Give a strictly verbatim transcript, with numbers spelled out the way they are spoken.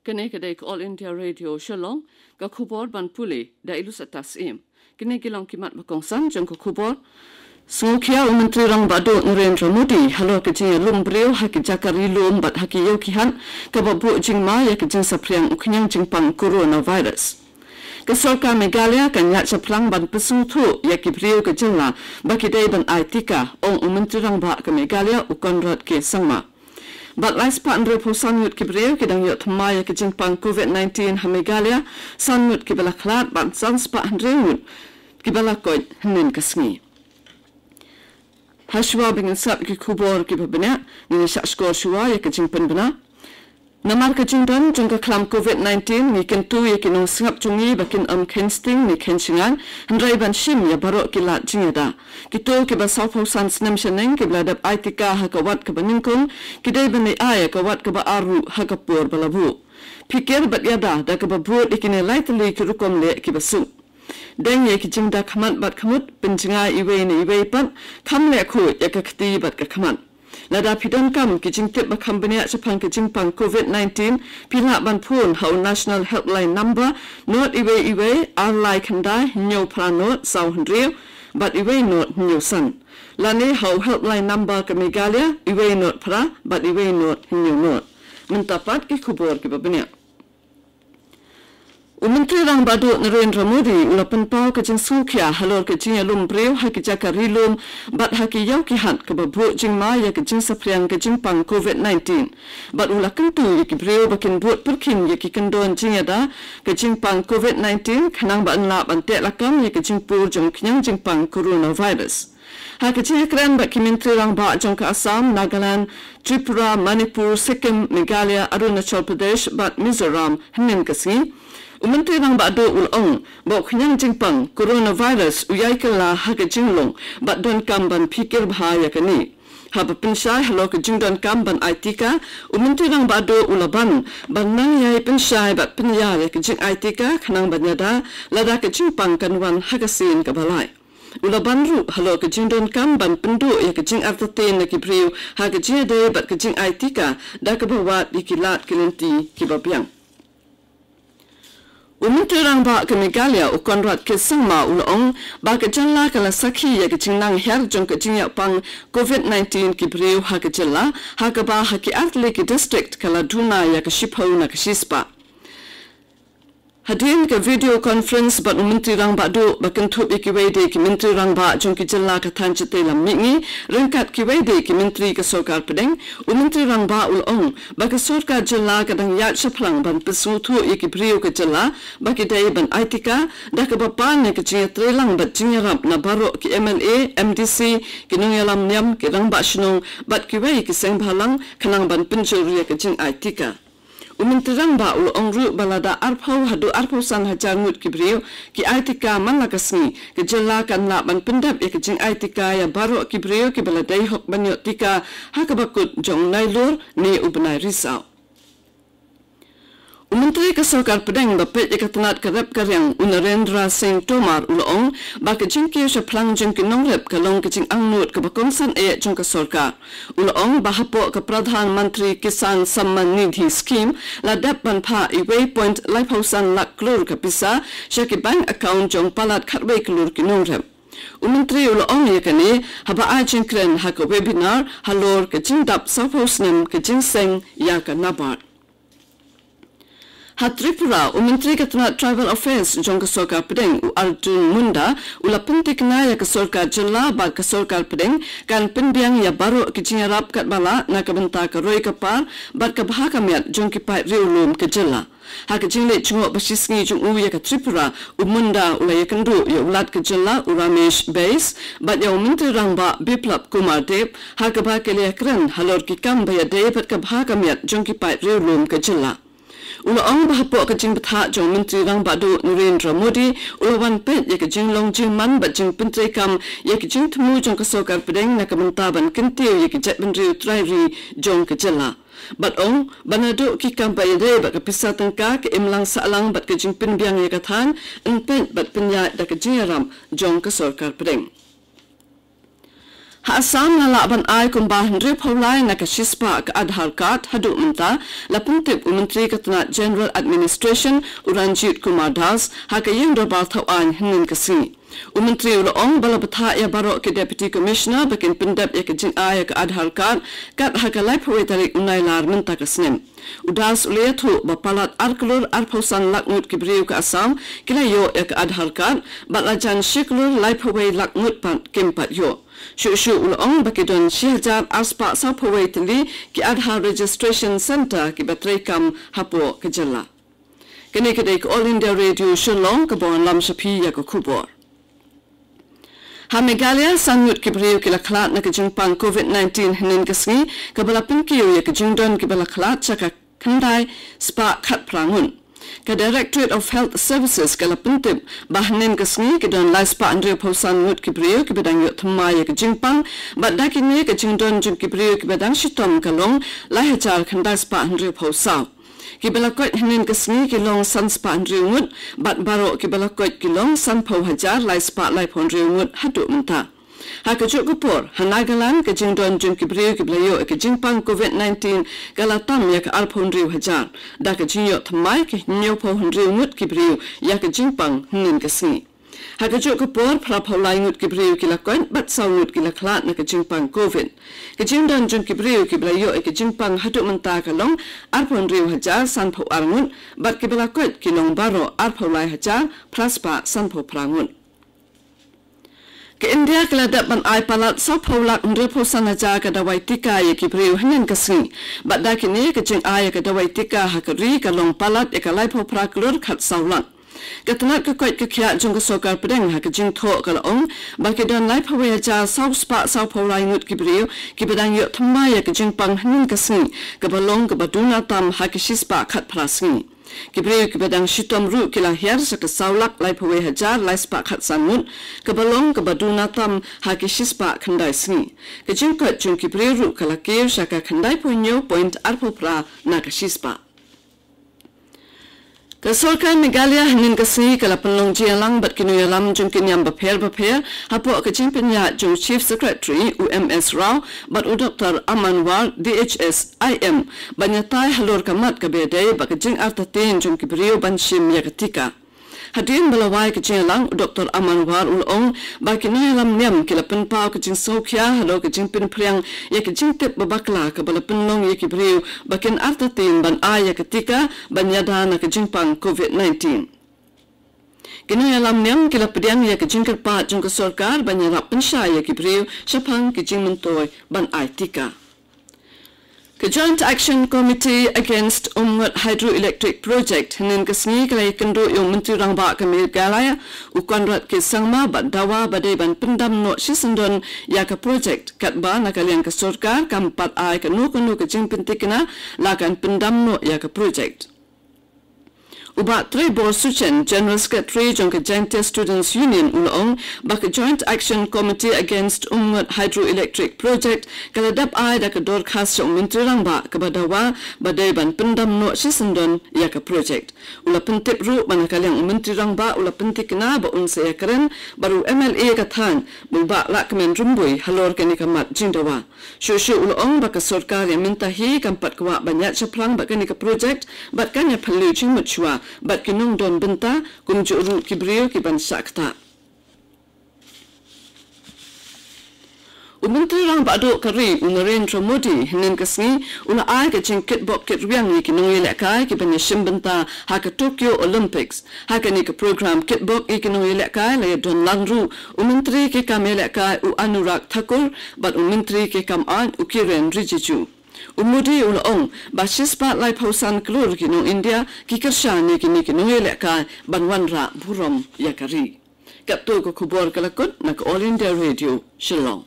Kane ka dei ka All India Radio Shillong, ka khubor ban pule da i Lusata Syiem. Kine ki long ki mat ba kongsan jong ka khubor. Sngewkhia u Myntri Rangbah Duh Narendra Modi halor ka jingïalum briew ha ki jaka ri lum bad ha ki ïew ki hat kaba buh jingma ïa ka jingsaphriang u khñiang jingpang coronavirus. Ka sorkar Meghalaya kan ïaid shaphrang ban pynsngewthuh ïa ki briew ka jylla ba ki dei ban ai tika, ong u Myntri Rangbah ka Meghalaya u Conrad K Sangma. Bad lai spah hynriewphew san ngut ki briew ki dang ïoh thymmai ïa ka jingpang covid nineteen ha Meghalaya, san ngut kiba la khlad bad san spah hynriew ngut kiba la koit hynnin ka sngi. Hashwa ba ngin sngap ïa ki khubor kiba bniah, ngin ïa shah shkor shuwa ïa ka jingpynbna. Namar ka jingdon jong ka khlam covid nineteen, ngi kyntu ïa ki nongsngap jong ngi ba kin ym kheiñ sting ne kheiñ shngaiñ, hynrei ban shim ïa baroh ki lad jingïada. Kito kiba sawphew san snem shaneng kiba la dep ai tika ha ka wat kaba nyngkong, ki dei ban ai ïa ka wat kaba ar ruh ha ka por ba la buh. Phikir bad ïada da kaba bud ïa kine lai tylli ki rukom leh kiba suk. Deng ïa ki jingda khmat bad khmut, pynjngai iwei na iwei pat, kham leh khuid ïa ka kti bad ka khmat. Lada phi donkam ki jingtip ba kham bniah shaphang ka jingpang covid nineteen, phi lah ban phone ha u National Helpline Number, not iwei iwei, ar lai khyndai, hynñiew phra not, saw hynriew, bad iwei not, hynñiew san. Lane ha u Helpline Number ka Meghalaya, iwei not phra, bad iwei not, hynñiew not. Mynta pat ki khubor kiba bniah. U Myntri Rangbah Duh Narendra Modi u la pynpaw ka jingsngewkhia halor ka jingïalum briew ha ki jaka ri lum bad ha ki ïew ki hat kaba buh jingma ïa ka jingsaphriang ka jingpang covid nineteen. Bad u la kyntu ïa ki briew ba kin bud pyrkhing ïa ki kyndon jingïada ka jingpang covid nineteen khnang ba yn lah ban teh lakam ïa ka jingpur jong u khñiang jingpang coronavirus. Ha ka jingïakren bad ki Myntri Rangbah jong ka Assam, Nagaland, Tripura, Manipur, Sikkim, Meghalaya, Arunachal Pradesh bad Mizoram hynnin ka sngi, u Myntri Rangbah Duh u la ong ba u khñiang jingpang coronavirus u ïai kylla ha ka jinglong bad donkam ban phikir bha ïa kane. Haba pynshai halor ka jingdonkam ban ai tika, u Myntri Rangbah Duh u la ban ban nang ïai pynshai bad pynïar ïa ka jingai tika khnang ban ïada lada ka jingpang kan wan ha ka sien kaba lai. U la ban ruh halor ka jingdonkam ban pynduh ïa ka jingartatien na ki briew ha ka jingïadei bad ka jingai tika da kaba wad ïa ki lad ki lynti kiba biang. U Myntri Rangbah ka Meghalaya u Conrad K Sangma u la ong ba ka jylla ka la sakhi ïa ka jingnang hiar jong ka jingïapang covid nineteen ki briew ha ka jylla, ha kaba ha ki artylli ki district ka la duna ïa ka shiphew na ka shispah. Hadien ka video conference bad u Myntri Rangbah Duh ba kynthup ïa kiwei de ki Myntri Rangbah jong ki jylla ka thaiñ shatei lam mihngi ryngkat kiwei de ki Myntri ka Sorkar Pdeng, u Myntri Rangbah u la ong ba ka Sorkar Jylla ka dang ïaid shaphrang ban pynsngewthuh ïa ki briew ka jylla ba ki dei ban ai tika da kaba pan ïa ka jingïatreilang bad jingïarap na baroh ki M L A, M D C, ki nongïalam niam, ki rangbah shnong bad kiwei ki seng bhalang khnang ban pynjur ïa ka jingai tika. U Myntri Rangbah u la ong ruh ba lada arphew haduh arphew san hajar ngut ki briew ki ai tika man la ka sngi, ka jylla kan lah ban pyndep ïa ka jingai tika ïa baroh ki briew kiba la dei hok ban ïoh tika ha kaba kut jong u Nailur ne u bnai Risaw. U Myntri ka Sorkar Pdeng ba peit ïa ka tnat ka rep ka riang u Narendra Singh Tomar u la ong ba ka jingkiew shaphrang jong ki nongrep ka long ka jingangnud kaba kongsan eh jong ka sorkar. U la ong ba hapoh ka Pradhan Mantri Kisan Samman Nidhi Scheme la dep ban phah iwei point laiphew san lak klur ka pisa sha ki bank account jong palat khatwei klur ki nongrep. U Myntri u la ong ïa kane haba ai jingkren ha ka webinar halor ka jingdap sawphew snem ka jingseng ïa ka NABARD. Ha Tripura, u Myntri ka tnat Tribal Affairs jong ka Sorkar Pdeng u Arjun Munda u la pynthikna ïa ka Sorkar Jylla ba ka Sorkar Pdeng kan pynbiang ïa baroh ki jingïarap katba lah na ka bynta ka roi ka par bad ka bha ka miat jong ki paid riewlum ka jylla. Ha ka jingleit jngoh ba shisngi jong u ïa ka Tripura, u Munda u la ïakynduh ïa u Lat ka jylla u Ramesh Bais bad ïa u Myntri Rangbah Biplab Kumar Deb ha kaba ki la ïakren halor ki kam ba ïadei bad ka bha ka miat jong ki paid riewlum ka jylla. U la ong ba hapoh ka jingbthah jong u Myntri Rangbah Duh Narendra Modi u la wan peit ïa ka jinglong jingman bad jingpyntreikam ïa ka jingthmu jong ka Sorkar Pdeng na ka bynta ban kyntiew ïa ka jaitbynriew trai ri jong ka jylla. Bad ong ba naduh ki kam ba ïadei bad ka pisa tyngka, ka imlang sahlang bad ka jingpynbiang ïa ka thaiñ, yn peit bad pynïaid da ka jingïarap jong ka Sorkar Pdeng. Ha Assam la lah ban ai kumba hynriew phew lai na ka shispah ka Aadhaar card haduh mynta, la pyntip u Myntri ka tnat General Administration u Ranjit Kumar Das ha ka ïing dorbar thaw aiñ hynnin ka sngi. U Myntri u la ong ba la bthah ïa baroh ki Deputy Commissioner ba kin pyndep ïa ka jingai ïa ka Aadhaar card kat ha ka laiphew wei tarik u Nailar mynta ka snem. U Das u la ïathuh ba palat ar klur arphew san lak ngut ki briew ka Assam ki la ïoh ïa ka Aadhaar card, bad la jan shi klur laiphew wei lak ngut pat kim pat ïoh. Shuh shuh u la ong ba ki don shi hajar arspah sawphew wei tylli ki Aadhaar Registration Centre kiba treikam hapoh ka jylla. Kane ka dei ka All India Radio Shillong kaba wanlam sha phi ïa ka khubor. Ha Meghalaya, san ngut ki briew ki la khlad na ka jingpang COVID nineteen hynnin ka sngi, kaba la pynkiew ïa ka jingdon kiba la khlad sha ka khyndai spah khatphra ngut. Ka Directorate of Health Services ka la pyntip ba hynnin ka sngi ki don lai spah hynriew phew san ngut ki briew kiba dang ïoh thymmai ïa ka jingpang, bad da kine ka jingdon jong ki briew kiba dang shitom ka long lai hajar khyndai spah hynriew phew saw. Kiba la koit hynnin ka sngi ki long san spah hynriew ngut, bad baroh kiba la koit ki long sanphew hajar lai spah laiphew hynriew ngut haduh mynta. Ha kajuh ka por, ha Nagaland ka jingdon jong ki briew kiba la ïoh ïa ka jingpang COVID nineteen ka la tam ïa ka arphew hynriew hajar, da ka jingïoh thymmai ki hynñiewphew hynriew ngut ki briew ïa ka jingpang hynnin ka sngi. Ha kajuh ka por, phraphew lai ngut ki briew ki la koit, bad saw ngut ki la khlad na ka jingpang COVID. Ka jingdon jong ki briew kiba la ïoh ïa ka jingpang haduh mynta ka long arphew hynriew hajar sanphew ar ngut, bad kiba la koit ki long baroh arphew lai hajar phra spah sanphew phra ngut. Ka India ka la dep ban ai palat sawphew lak hynriewphew san hajar ka dawai tika ïa ki briew hynnin ka sngi. Bad da kine ka jingai ïa ka dawai tika ha ka ri ka long palat ïa ka laiphew phra klur khatsaw lak. Ka tnat ka koit ka khiah jong ka sorkar pdeng ha ka jingthoh ka la ong ba ki don laiphew wei hajar saw spah sawphew lai ngut ki briew kiba dang ïoh thymmai ïa ka jingpang hynnin ka sngi, kaba long kaba duna tam ha ki shispah khatphra sngi. Ki briew kiba dang shitom ruh ki la hiar sha ka saw lak laiphew wei hajar lai spah khatsan ngut, kaba long kaba duna tam ha ki shispah khyndai sngi. Ka jingkoit jong ki briew ruh ka la kiew sha ka khyndaiphew hynñiew point arphew phra na ka shispah. Ka sorkar Meghalaya hynnin ka sngi ka la pynlong jingïalang bad ki nongïalam jong ki niam bapher bapher hapoh ka jingpynïaid jong Chief Secretary u M S Rao bad u Doktor Aman War D H S I M, ban ïatai halor ka mat kaba ïadei bad ka jingartatien jong ki briew ban shim ïa ka tika. Hadien ba la wai ka jingïalang, u Doktor Aman War u la ong ba ki nongïalam niam ki la pynpaw ka jingsngewkhia halor ka jingpynphriang ïa ka jingtip ba bakla kaba la pynlong ïa ki briew ba kin artatien ban ai ïa ka tika ban ïada na ka jingpang COVID nineteen. Ki nongïalam niam ki la pdiang ïa ka jingkyrpad jong ka sorkar ban ïarap pynshai ïa ki briew shaphang ki jingmyntoi ban ai tika. Ka Joint Action Committee Against Umngot Hydroelectric Project hynnin ka sngi ka la ïakynduh ïa u Myntri Rangbah ka Meghalaya u Conrad K Sangma bad dawa ba dei ban pyndam noh shisyndon ïa ka project, katba na ka liang ka sorkar kam pat ai kano kano ka jingpyntikna la kan pyndam noh ïa ka project. U Bah Treibor Suchen, General Secretary jong ka Jaintia Students Union, u la ong ba ka Joint Action Committee Against Umngot Hydroelectric Project ka la dep ai da ka dorkhas sha u Myntri Rangbah kaba dawa ba dei ban pyndam noh shisyndon ïa ka project. U la pyntip ruh ba na ka liang u Myntri Rangbah u la pyntikna ba un sa ïakren bad u M L A ka thaiñ, u Bah Lahkmen Rymbui, halor kane ka mat jingdawa. Shuh shuh u la ong ba ka sorkar ïa mynta hi kam pat kwah ban ïaid shaphrang bad kane ka project, bad kan ïa phylliew jingmut shuwa bad ki nongdon bynta, kumjuh ruh ki briew ki ban shah ktah. U Myntri Rangbah Duh ka ri u Narendra Modi hynnin ka sngi u la ai ka jingkitbok kitrwiang ïa ki nongïalehkai ki ban ïashim bynta ha ka Tokyo Olympics. Ha kane ka program kitbok ïa ki nongïalehkai la ïadon lang ruh u Myntri ki kam ïalehkai u Anurag Thakur bad u Myntri ki kam aiñ u Kiren Rijiju. U Modi u la ong ba shispah laiphew san klur ki nong India ki kyrshan ïa kine ki nongïalehkai ban wanrah burom ïa ka ri. Katto ka khubor ka la kut na ka All India Radio, Shillong.